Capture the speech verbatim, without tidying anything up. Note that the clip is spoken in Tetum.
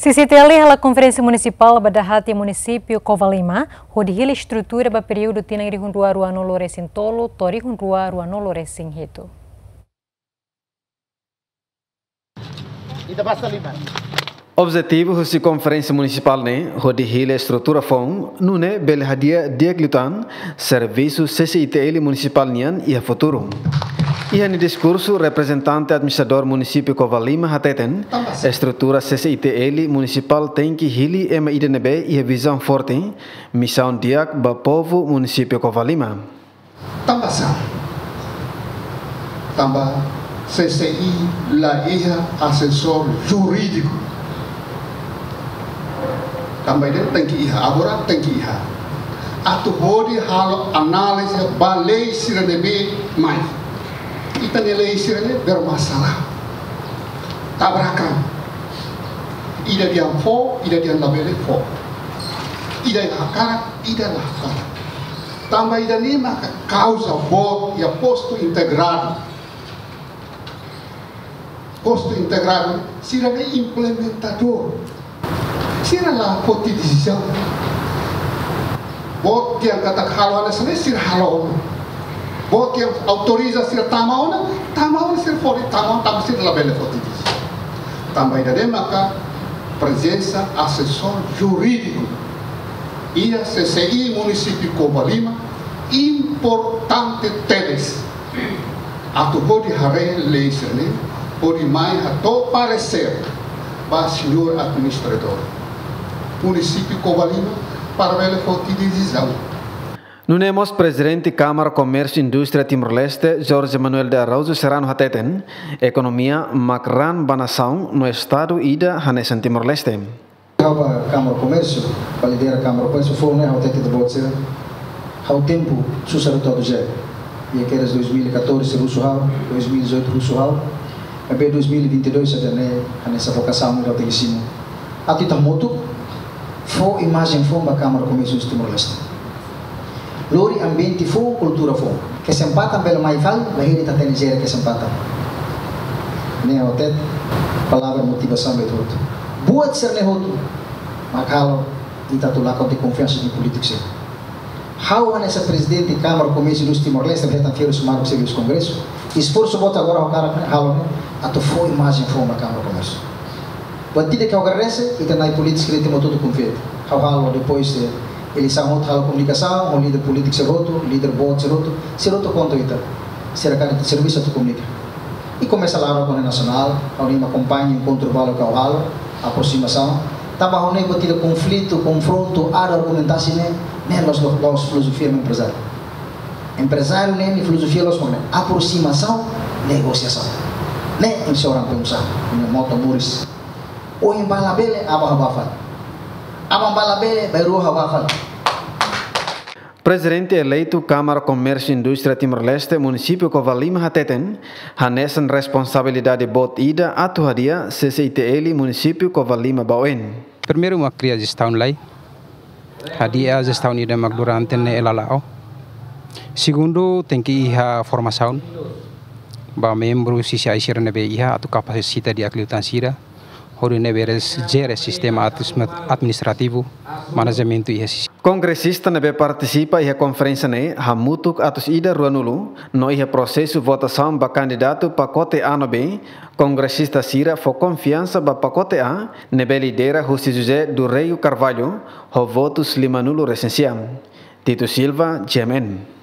C C I T L hala'o konferénsia munisipál ba dahaat iha munisípiu Covalima, hodi hili estrutura ba períodu tinan rihun rua ruanulu resin tolu to'o rihun rua ruanulu resin hitu. Ita basa lima. Objetivu husi konferénsia munisipál ne'e hodi hili estrutura foun, nune'e bele hadi'a di'ak liután servisu C C I T L munisipál nian iha futuru. Iha nia diskursu, reprezentante administradór munisípiu Covalima hateten, estrutura C C I T L munisipál tenke hili ema ida ne'ebé iha vizaun forte, misaun di'ak ba povu munisípiu Covalima. Tanba sá? Tanba C C I la iha asesór jurídiku. Tanba ida tenke iha, agora tenke iha. Atu hodi halo análize ba lei sira ne'ebé mai. Ita-nia lei sira ne'e bermasalah. Tabrakan. Ida dehan fó, ida dehan labele fó. Ida hakarak, ida la hakarak. Tanba ida-ne'e maka kauza boot iha postu integradu. Postu integradu, sira ne'e implementadór. Sira la foti desizaun. Boot dehan katak halo hanesan ne'e, sira halo ona. Boot dehan autoriza sira tama ona, tama ona, sira foti tama ona, tanba sira labele foti desizaun. Tanba ida-ne'e maka prezensa asesór jurídiku iha C C I munisípiu Covalima importante tebes. Atu hodi haree lei sira-ne'e, hodi mai hato'o paresér ba señór administradór munisípiu Covalima para bele foti desizaun. Nune'e mós Prezidente Kámara Komérsiu Indústria Timor-Leste, Jorge Manuel de Araújo Serrano hateten, ekonomia mak raan ba nasaun no estadu ida hanesan Timor-Leste. Ha'u ba Kámara Komérsiu, ba lidera Kámara Komérsiu, foin ne'e ha'u hatete ba ita-boot sira, ha'u tempu susar hotu atu jere. Iha kedas dois mil e catorze husu ha'u, dois mil e dezoito husu ha'u, maibé dois mil e vinte e dois ida-ne'e hanesan vokasaun ida ha'u tenke simu. Atu ita hamutuk fó imajen foun ba Kámara Komérsiu Indústria Timor-Leste. Lori ambiente foun, kultura foun. Kesempatan bele mai fali, la hili ita hatene jere kesempatan. Ne'e ha'u hatete, palavra motivasaun ba ita hotu. Buat sira-ne'e hotu mak halo ita atu lakon tiha konfiansa iha polítiku sira. Ha'u hanesan Prezidente Kámara Komérsiu Indústria Timor-Leste, hetan fiar husi Marco Serviço Kongresu. Esforsu boot agora ha'u hakarak ne'e, halo ne'e, atu fó imajen foun ba Kámara Komérsiu. Buat ida ke ha'u agradese, ita-nia polítiku sira ita hotu konfia. Ha'u halo depois de eleisaun hotu halo komunikasaun ho líder polítiku sira hotu, líder boot sira hotu, sira hotu konta ita. Sira kaer ita servisu atu komunika. I komesa laran ho nasionál, ha'u-nia akompaña enkontru balu ke ha'u halo, aprosimasaun. Tanba ha'u ne'e buat ida konflitu, konfrontu, adu argumentasaun ne'e, ne'e la'ós, la'ós filozofia emprezáriu. Emprezáriu ne'e nia filozofia la'ós mak ne'e, aprosimasaun, negosiasaun. Ne'e ema sira pensa, ne'e moto moris. Ohin bá labele, aban bá fali. Aban bá labele, bainrua bá fali. Prezidente eleitu Kámara Komérsiu Indústria Timor-Leste, munisípiu Covalima hateten, hanesan responsabilidade boot ida atu hadi'a C C I T L munisípiu Covalima ba oin. Primeiru mak kria jestaun lai, hadi'a jestaun ida mak durante ne'e lala'o. Segundu, tenke iha formasaun ba membru C C I sira ne'ebé iha atu kapasita di'ak liután sira, hodi nune'e bele jere sistema admis-, administrativu, manajementu iha C C I. Kongresista ne'ebé partisipa iha konferénsia ne'e hamutuk atus ida ruanulu, no iha prosesu votasaun ba kandidatu pakote A no B, kongresista sira fó konfiansa ba pakote A, ne'ebé lidera husi José do Rego Carvalho, ho votus limanulu resin sia. Tito Silva, G M N.